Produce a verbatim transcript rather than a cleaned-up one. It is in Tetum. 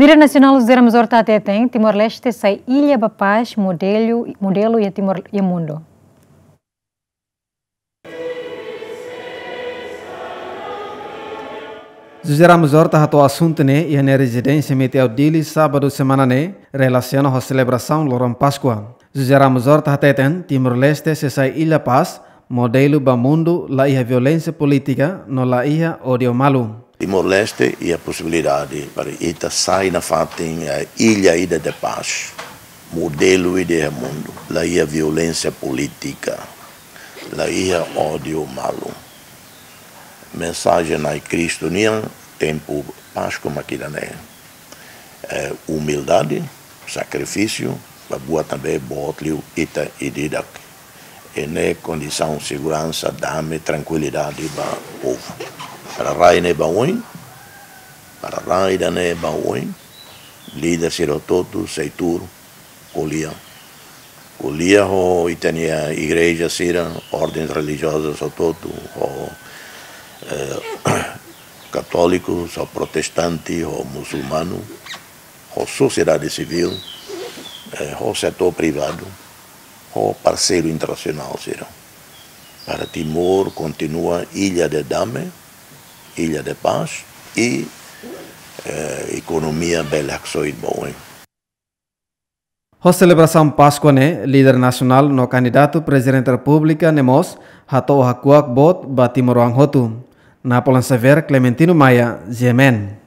Líder nasionál José Ramos Horta hateten Timor-Leste sai illa ba pás, modelu, modelu iha Timor iha mundu. José Ramos Horta hato'o asuntu ne'e iha nia rezidénsia Metiau Dili, sábadu semana ne'e, relasiona ho selebrasaun loron Páskua. José Ramos Horta hateten Timor-Leste sei sai illa pás, modelu ba mundu, la iha violénsia polítika no la iha ódiu malu. Timor-Leste iha posibilidade para ita sai nafatin, eh, illa ida de pás, modelu ida iha mundu, la iha violénsia polítika, la iha ódiu malu. Mensajen Nai Kristu nian, tempu Páskua mak ida-ne'e. Eh, umildade, sakrifísiu, ba buat ne'ebé boot liu ita ida-idak. I ne'e kondisaun seguransa, dame, trankuilidade ba povu. Para rai ne'e ba oin, para rai ida-ne'e ba oin, líder sira hotu-hotu, sei tuur, ko'alia. Ko'alia ho ita-nia igreja sira, ordens relijiozas hotu-hotu, ho, eh, katóliku, ho protestante, ho musulmanu, ho sosiedade sivíl, eh, ho setór privadu, ho parseiru internasionál sira. Para Timor kontinua illa de dame, illa de pás i, eh, ekonomia bele haksoit ba oin. Ho selebrasaun Páskua ne'e, líder nasionál no kandidatu Prezidente Repúblika ne'e mós hato'o hakuak boot ba timoroan hotu. Napoleon Xavier, Clementino Maia, G M N.